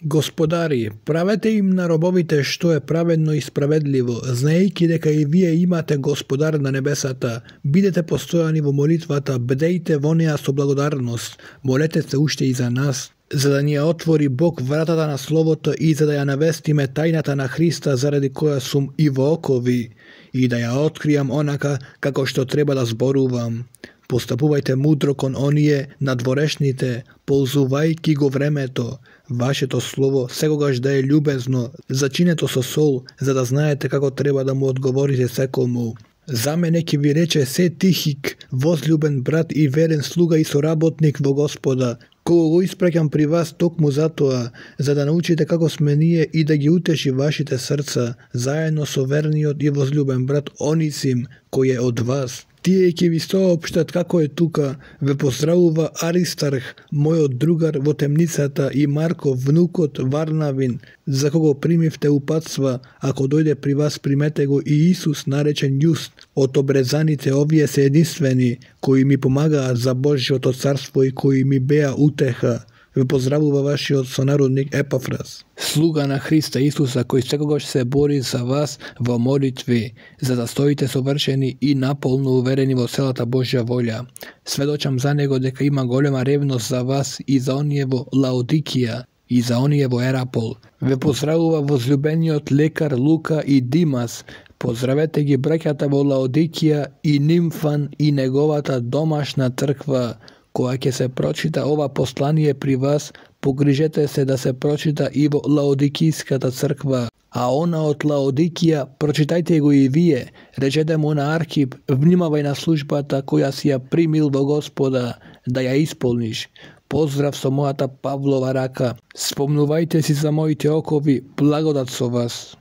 Господари, правете им на робовите што е праведно и справедливо, знаејќи дека и вие имате Господар на небесата. Бидете постојани во молитвата, бдејте во неа со благодарност, молете се уште и за нас, за да ни ја отвори Бог вратата на Словото и за да ја навестиме тајната на Христа заради која сум и во окови, и да ја откријам онака како што треба да зборувам. Постапувајте мудро кон оние надворешните, ползувајќи го времето. Вашето слово секогаш да е љубезно, зачинето со сол, за да знаете како треба да му одговорите секому. За мене ќе ви рече се Тихик, возлюбен брат и верен слуга и соработник во Господа, кого го испраќам при вас токму затоа, за да научите како сме ние и да ги утеши вашите срца, заедно со верниот и возлюбен брат Онисим, кој е од вас. Тие ќе ви соопштат како е тука. Ве поздравува Аристарх, мојот другар во темницата, и Марко, внукот Варнавин, за кого примивте упатства. Ако дојде при вас, примете го и Исус, наречен Јуст. Од обрезаните овие се единствени, кои ми помагаат за Божјото царство и кои ми беа утеха. Ве поздравува вашиот сонародник Епафрас, слуга на Христа Исуса, кој секогаш се бори за вас во молитви, за да стоите совршени и наполно уверени во целата Божја волја. Сведочам за него дека има голема ревност за вас и за оние во Лаодикија и за оние во Ерапол. Ве поздравува возлюбениот лекар Лука и Димас. Поздравете ги браќата во Лаодикија и Нимфан и неговата домашна црква. Кога ќе се прочита ова послание при вас, погрижете се да се прочита и во Лаодикиската црква. А она од Лаодикија, прочитајте го и вие. Речете му на Архип, внимавај на службата која си ја примил во Господа, да ја исполниш. Поздрав со мојата Павлова рака. Спомнувајте си за моите окови, благодат со вас.